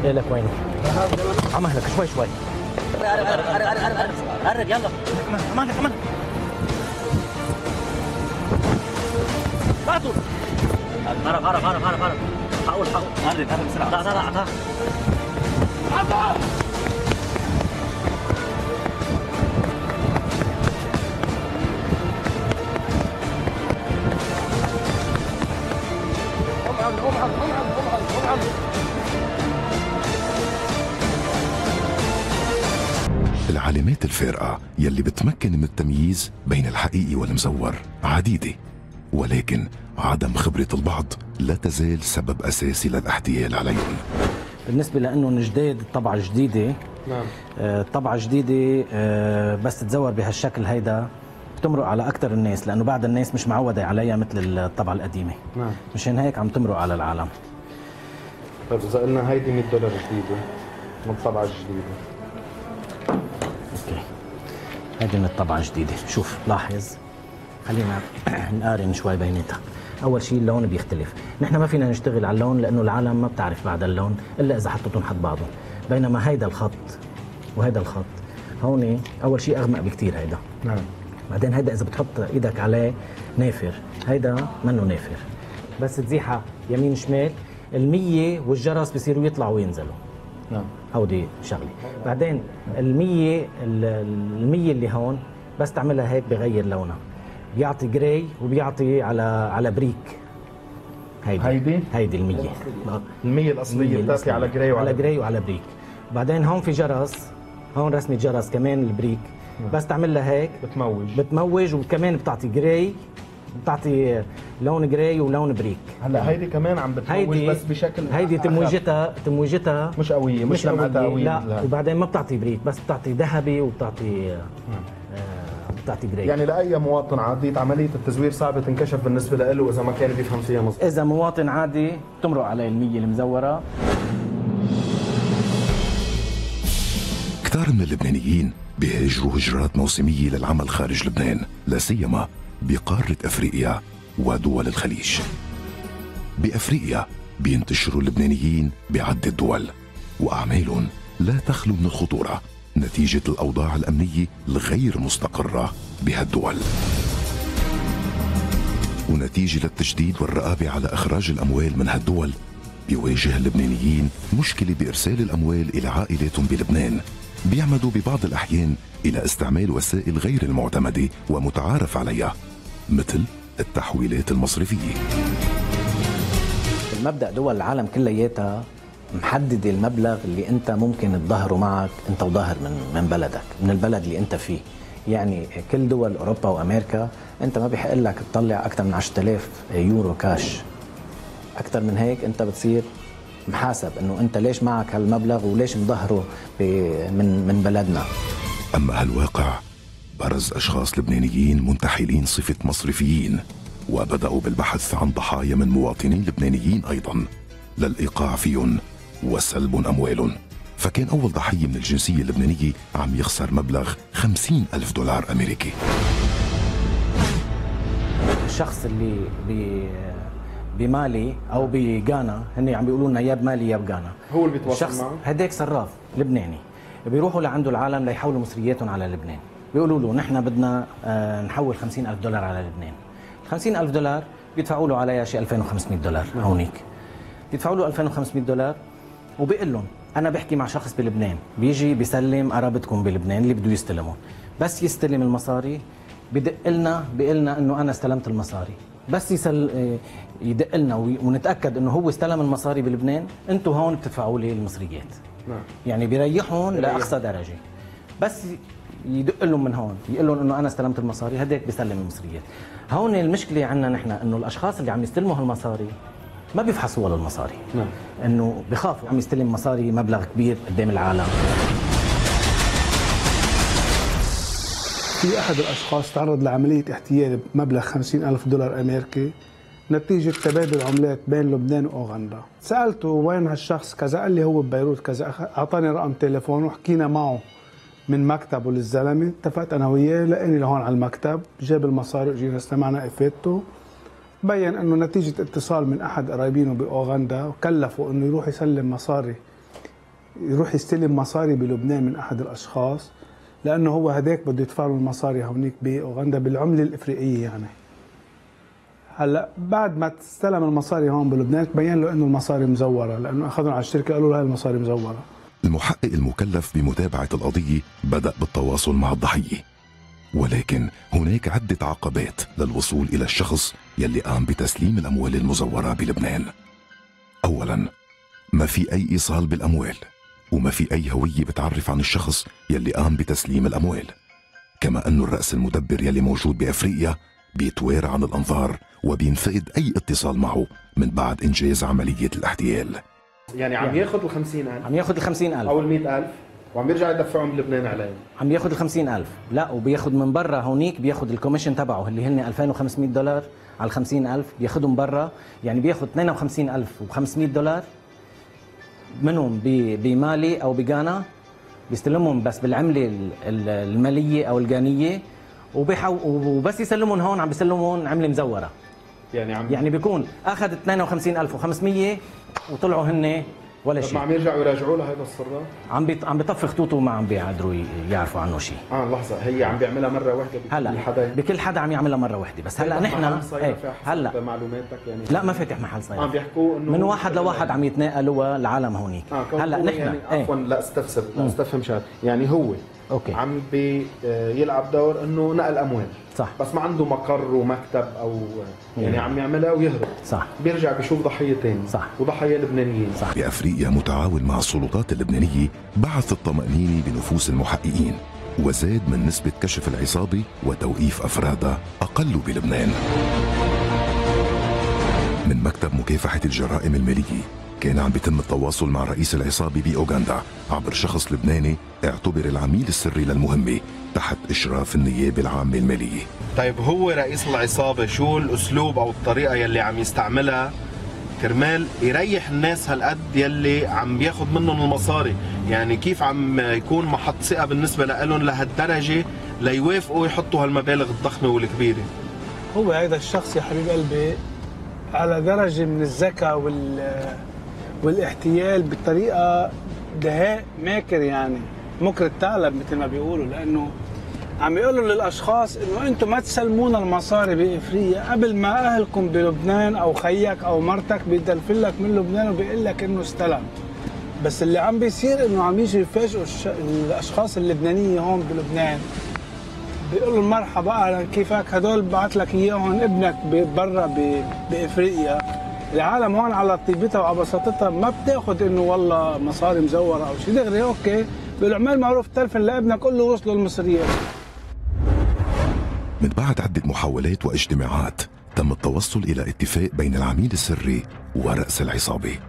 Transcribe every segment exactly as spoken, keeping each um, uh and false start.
ايه لك وينه؟ عمهلك شوي شوي. قرب قرب قرب قرب قرب قرب يلا. عمهلك عمهلك. بعتوا. قرب قرب قرب قرب قرب. حاول حاول. قرب قرب بسرعة. لا لا لا عطاه. عطاه. العلامات الفارقة يلي بتمكن من التمييز بين الحقيقي والمزور عديدة، ولكن عدم خبرة البعض لا تزال سبب أساسي للاحتيال عليهم. بالنسبة لأنه جديد الطبعة الجديدة، نعم الطبعة الجديدة بس تتزور بهالشكل هيدا بتمرق على أكثر الناس، لأنه بعض الناس مش معودة عليها مثل الطبعة القديمة. نعم مشان هيك عم تمرق على العالم. طيب إذا قلنا هيدي مية دولار جديدة من الطبعة الجديدة. اوكي هيدي من الطبعة الجديدة. شوف لاحظ، خلينا نقارن شوي بيناتها. أول شيء اللون بيختلف، نحن ما فينا نشتغل على اللون لأنه العالم ما بتعرف بعد اللون إلا إذا حطيتهم حد بعضهم، بينما هيدا الخط وهيدا الخط هون أول شيء أغمق بكتير هيدا. نعم. بعدين هيدا إذا بتحط إيدك عليه نافر، هيدا منه نافر، بس تزيحها يمين شمال المية والجرس بصيروا يطلعوا وينزلوا. نعم. هودي شغلة. بعدين المية المية اللي هون بس تعملها هيك بغير لونها، بيعطي جراي وبيعطي على على بريك. هيدي هيدي هيدي المية المية الأصلية بتعطي على جراي وعلى على جراي وعلى بريك. بعدين هون في جرس، هون رسمة جرس كمان البريك. نعم. بس تعملها هيك بتموج بتموج وكمان بتعطي جراي، بتعطي لون جراي ولون بريك. هلا هيدي كمان عم بتموج بس بشكل هيدي تموجتها تموجتها مش قوية، مش لمعتها قوية. لا لا. وبعدين ما بتعطي بريك، بس بتعطي ذهبي وبتعطي آه بتعطي جراي. يعني لأي مواطن عادي عملية التزوير صعبة تنكشف بالنسبة له إذا ما كان بيفهم فيها مظبوط. إذا مواطن عادي تمرق عليه المية المزورة. كتار من اللبنانيين بيهاجروا هجرات موسمية للعمل خارج لبنان، لا سيما بقارة أفريقيا ودول الخليج. بأفريقيا بينتشروا اللبنانيين بعدة دول، وأعمالهم لا تخلو من الخطورة نتيجة الأوضاع الأمنية الغير مستقرة بهالدول، ونتيجة للتجديد والرقابة على إخراج الأموال من هالدول بيواجه اللبنانيين مشكلة بإرسال الأموال إلى عائلاتهم بلبنان. بيعمدوا ببعض الأحيان إلى استعمال وسائل غير المعتمدة ومتعارف عليها مثل التحويلات المصرفية. المبدأ دول العالم كلياتها محددة المبلغ اللي أنت ممكن تظهره معك أنت وظاهر من من بلدك، من البلد اللي أنت فيه. يعني كل دول أوروبا وأمريكا أنت ما بيحق لك تطلع أكثر من عشرة آلاف يورو كاش. أكثر من هيك أنت بتصير محاسب إنه أنت ليش معك هالمبلغ وليش مظهره من من بلدنا. أما هالواقع برز أشخاص لبنانيين منتحلين صفة مصرفيين، وبدأوا بالبحث عن ضحايا من مواطنين لبنانيين أيضا للإيقاع فيهم وسلب أموالهم. فكان أول ضحية من الجنسية اللبنانية عم يخسر مبلغ خمسين ألف دولار أمريكي. الشخص اللي بي بمالي او بغانا، هن عم بيقولوا لنا يا بمالي يا بغانا، هو اللي بيتواصل شخص معه. هداك صراف لبناني بيروحوا لعنده العالم ليحولوا مصرياتهم على لبنان، بيقولوا له نحن بدنا نحول خمسين ألف دولار على لبنان. خمسين ألف دولار بيدفعوا له عليها شيء ألفين وخمسمية دولار. هونيك بيدفعوا له ألفين وخمسمية دولار، وبيقول لهم انا بحكي مع شخص بلبنان بيجي بيسلم قرابتكم بلبنان اللي بده يستلمون، بس يستلم المصاري بدق لنا بيقول لنا انه انا استلمت المصاري، بس يسل يدق لنا ونتاكد انه هو استلم المصاري بلبنان، انتم هون بتدفعوا لي المصريات. نعم. يعني بيريحهم لاقصى درجه، بس يدق لهم من هون يقول لهم انه انا استلمت المصاري، هداك بيسلم المصريات. هون المشكله عندنا نحن انه الاشخاص اللي عم يستلموا هالمصاري ما بيفحصوا ولا المصاري. نعم. انه بخافوا عم يستلم مصاري مبلغ كبير قدام العالم. في أحد الأشخاص تعرض لعملية احتيال بمبلغ خمسين ألف دولار أمريكي نتيجة تبادل عملات بين لبنان وأوغندا. سألته وين هالشخص كذا، قال لي هو ببيروت كذا، أعطاني رقم تليفونه وحكينا معه من مكتبه للزلمة. اتفقت أنا وياه، لقاني لهون على المكتب، جاب المصاري وجينا استمعنا إفادته. بين أنه نتيجة اتصال من أحد قرايبينه بأوغندا وكلفوا أنه يروح يسلم مصاري يروح يستلم مصاري بلبنان من أحد الأشخاص، لأنه هو هداك بده يدفع له المصاري هونيك بأوغندا بالعملة الإفريقية. يعني هلا بعد ما استلم المصاري هون بلبنان تبين له انه المصاري مزوره، لانه اخذهم على الشركه قالوا له هاي المصاري مزوره. المحقق المكلف بمتابعة القضية بدأ بالتواصل مع الضحية، ولكن هناك عدة عقبات للوصول إلى الشخص يلي قام بتسليم الأموال المزورة بلبنان. أولاً، ما في أي إيصال بالأموال، وما في أي هوية بتعرف عن الشخص يلي قام بتسليم الأموال، كما أنه الرأس المدبر يلي موجود بأفريقيا بيتوارى عن الأنظار وبينفقد أي اتصال معه من بعد إنجاز عملية الاحتيال. يعني عم ياخذ ال خمسين ألف عم ياخذ ال خمسين ألف أو ال مئة ألف وعم يرجع يدفعهم بلبنان عليهم. عم ياخذ ال خمسين ألف، لا وبياخذ من برا هونيك، بياخذ الكوميشن تبعه اللي هن ألفين وخمسمئة دولار على ال خمسين ألف، بياخذهم برا، يعني بياخذ اثنين وخمسين ألف وخمسمئة دولار منهم بمالي أو بغانا، بيستلمهم بس بالعملة المالية أو الغانية، وبيحو وبس يسلمون هون عم بيسلمون عملة مزورة. يعني عم يعني بيكون أخذ اثنين وخمسين ألف وخمسمئة وطلعوا هن ولا شيء. ما عم يرجعوا يراجعوا له هذا الصراف؟ عم بيط... عم بيطفي خطوطه وما عم بيقدروا يعرفوا عنه شيء. اه لحظه، هي عم بيعملها مره واحده بكل هلا حدا؟ بكل حدا عم يعملها مره واحده، بس هلا نحن ايه هلا معلوماتك يعني لا ما فاتح محل صيد. عم بيحكوا انه من واحد لواحد عم يتناقلوا العالم هونيك. آه هلا نحن يعني ايه. عفوا لا استفسر لا استفهم شغله، يعني هو اوكي عم بيلعب دور انه نقل اموال صح، بس ما عنده مقر ومكتب او يعني عم يعملها ويهرب صح، بيرجع بيشوف ضحيه ثاني صح، وضحيه لبنانيين صح. بأفريقيا متعاون مع السلطات اللبنانية بعث الطمأنينة بنفوس المحققين، وزاد من نسبة كشف العصابة وتوقيف أفرادها أقل بلبنان. من مكتب مكافحة الجرائم المالية كان عم بيتم التواصل مع رئيس العصابة بأوغندا عبر شخص لبناني اعتبر العميل السري للمهمة تحت إشراف النيابة العامة المالية. طيب هو رئيس العصابة شو الأسلوب أو الطريقة يلي عم يستعملها كرمال يريح الناس هالقد يلي عم بياخد منهم المصاري؟ يعني كيف عم يكون محط ثقة بالنسبة لهم لهالدرجة ليوافقوا يحطوا هالمبالغ الضخمة والكبيرة؟ هو هذا الشخص يا حبيب قلبي على درجة من الذكاء وال والاحتيال بطريقة دهاء ماكر، يعني مكر الثعلب مثل ما بيقولوا، لأنه عم يقولوا للأشخاص إنه أنتم ما تسلمونا المصاري بإفريقيا قبل ما أهلكم بلبنان أو خيك أو مرتك بيدلفلك من لبنان وبيقول لك إنه استلم. بس اللي عم بيصير إنه عم يجي يفاجئوا الش... الأشخاص اللبنانية هون بلبنان، بيقولوا مرحبا أهلا كيفك، هدول بعت لك إياهم ابنك برا ب... بإفريقيا. العالم هون على طيبتها وعلى بساطتها ما بتاخذ انه والله مصاري مزوره او شيء، دغري اوكي بالعمال معروف تلفن لابنك قول له وصلوا المصريات. من بعد عدة محاولات واجتماعات تم التوصل إلى اتفاق بين العميل السري ورأس العصابة.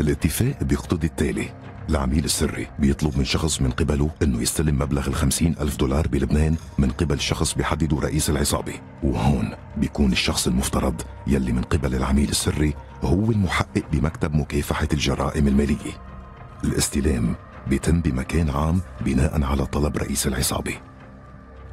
الاتفاق بيقتضي التالي: العميل السري بيطلب من شخص من قبله انه يستلم مبلغ الخمسين ألف دولار بلبنان من قبل شخص بيحدده رئيس العصابة، وهون بيكون الشخص المفترض يلي من قبل العميل السري هو المحقق بمكتب مكافحة الجرائم المالية. الاستلام بيتم بمكان عام بناء على طلب رئيس العصابة.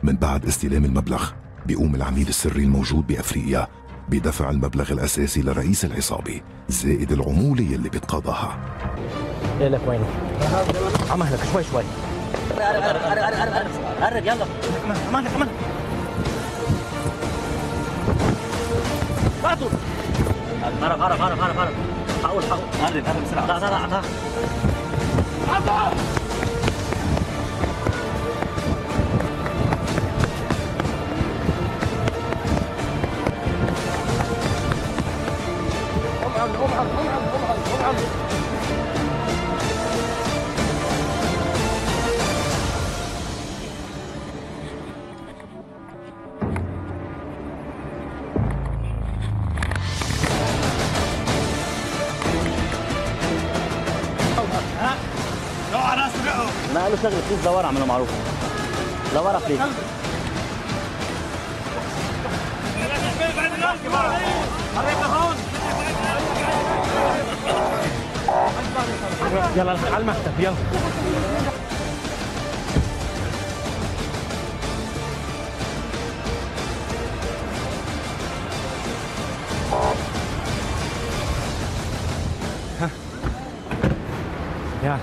من بعد استلام المبلغ بيقوم العميل السري الموجود بأفريقيا بدفع المبلغ الأساسي لرئيس العصابة زائد العمولة يلي بيتقاضاها. ايه لك وينه؟ عمهلك شوي شوي. قرب قرب قرب قرب قرب قرب يلا. عمهلك عمهلك. بعتوا. قرب قرب قرب قرب قرب. حاول حاول. قرب قرب بسرعة. لا لا لا عطاه. عطاه. قوم قوم قوم قوم قوم. ما قالوا شغله بليز لورا عملوا معروف. لورا بليز. يلا على المكتب يلا. ها يلا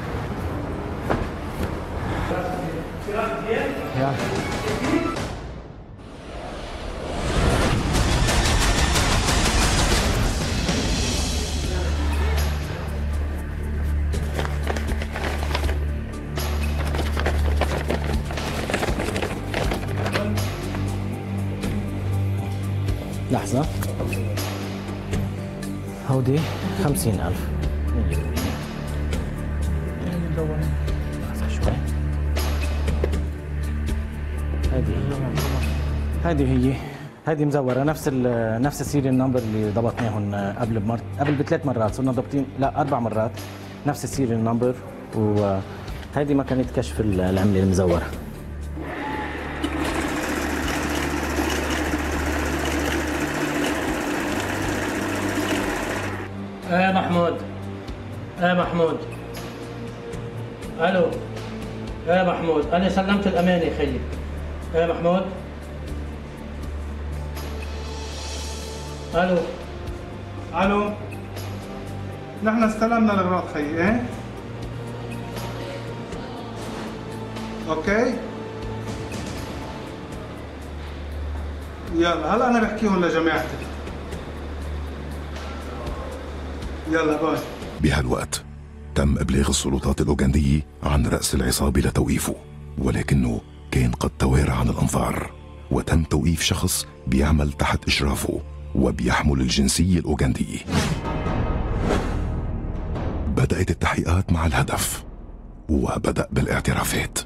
يلا. لحظة، هودي خمسين ألف. لحظة شوي. هذه هذه هي هذه مزورة نفس ال نفس السيريال نمبر اللي ضبطناهم قبل بمر قبل بثلاث مرات، صرنا ضابطين لا أربع مرات نفس السيريال نمبر، وهذه مكنة كشف العملة المزورة. ايه محمود، ايه محمود، الو، ايه محمود، انا سلمت الامانه خيي. ايه محمود، الو، الو، نحن استلمنا الاغراض خيي. ايه اوكي، يلا هلا انا بحكيهم لجماعتي. يلا باي. بهالوقت تم إبلاغ السلطات الأوغندية عن رأس العصابة لتوقيفه، ولكنه كان قد توارى عن الأنظار، وتم توقيف شخص بيعمل تحت إشرافه وبيحمل الجنسية الأوغندية. بدأت التحقيقات مع الهدف وبدأ بالاعترافات.